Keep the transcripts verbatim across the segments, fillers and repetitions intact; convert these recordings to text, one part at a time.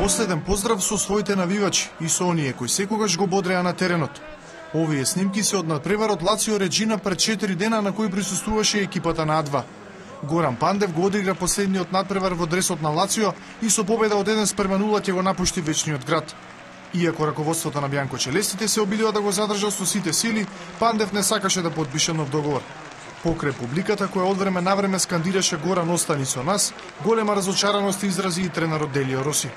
последен поздрав со своите навивачи и со оние кои секогаш го бодреа на теренот. Овие снимки се од надпреварот Лацио Реджина пред четири дена на кој присуствуваше екипата на А два. Горан Пандев го одигра последниот надпревар во дресот на Лацио и со победа од еден спрема нула ќе го напушти вечниот град. Иако раководството на Бјанко Челестите се обидува да го задржа со сите сили, Пандев не сакаше да подпише нов договор. Покрај публиката која од време на време скандираше Горан остани со нас, голема разочараност изрази и тренерот Делио Роси.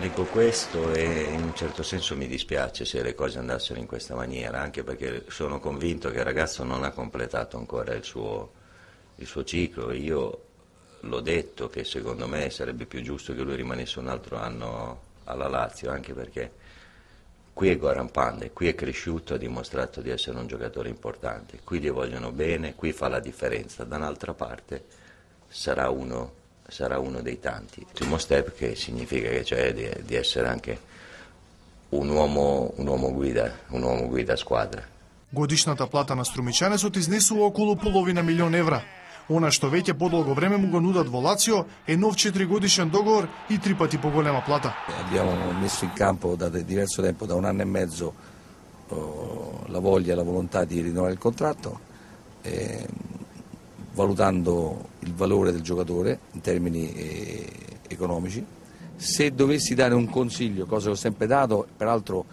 Dico questo e in un certo senso mi dispiace se le cose andassero in questa maniera, anche perché sono convinto che il ragazzo non ha completato ancora il suo, il suo ciclo. Io l'ho detto che secondo me sarebbe più giusto che lui rimanesse un altro anno alla Lazio, anche perché qui è Goran Pandev, qui è cresciuto, ha dimostrato di essere un giocatore importante, qui gli vogliono bene, qui fa la differenza, da un'altra parte sarà uno sarà uno dei tanti. Primo step che significa che cioè di, di essere anche un uomo, un uomo guida, un uomo guida squadra. Годишната плата на струмичанецот изнесува околу половина милион евра. Она што веќе подолго време му го нудат во Лацио е нов четиригодишен договор и три пати поголема плата. Abbiamo messo in campo da diverso tempo, da un anno e mezzo, la voglia e la volontà di rinnovare il contratto, eh, valutando il valore del giocatore in termini eh, economici. Se dovessi dare un consiglio, cosa che ho sempre dato, peraltro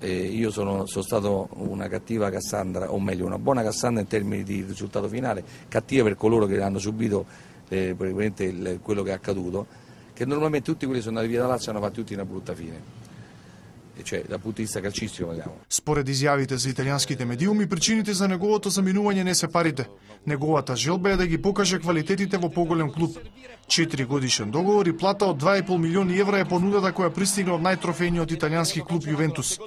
eh, io sono, sono stato una cattiva Cassandra, o meglio una buona Cassandra in termini di risultato finale, cattiva per coloro che hanno subito eh, praticamente il, quello che è accaduto, che normalmente tutti quelli che sono andati via da Lazio hanno fatto tutti una brutta fine. Cioè, dal punto di vista calcistico, parliamo. Според изјавите за италијанските медиуми, причините за неговото заминување не се парите. Неговата желба е да ги покаже квалитетите во поголем клуб. четири годишен договор и плата од два и пол милиони евра е понудата која пристигна од најтрофејниот италијански клуб Јувентус.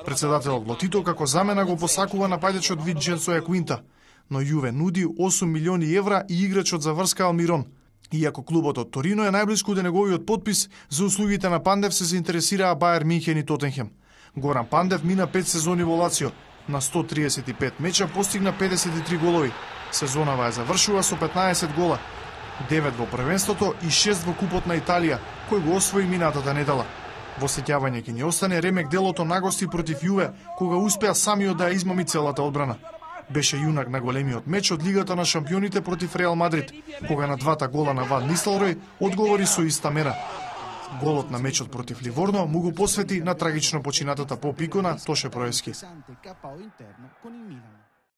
Председателот Лотито како замена го посакува нападачот Винченцо Јаквинта, но Јуве нуди осум милиони евра и играчот за врска Алмирон. Иако клубот од Торино е најблиску до неговиот подпис, за услугите на Пандев се заинтересираа Бајер Минхен и Тотенхем. Горан Пандев мина пет сезони во Лацио, на сто триесет и пет меча постигна педесет и три голови. Сезонава ја завршува со петнаесет гола, девет во првенството и шест во Купот на Италија, кој го освои минатата недела. Во сеќавање ќе ни остане ремек делото на гости против Јуве, кога успеа самиот да ја измами целата одбрана. Беше јунак на големиот меч од Лигата на шампионите против Реал Мадрид, кога на двата гола на Ван Нистелрој одговори со иста мера. Голот на мечот против Ливорно му го посвети на трагично починатата поп икона Тоше Проески.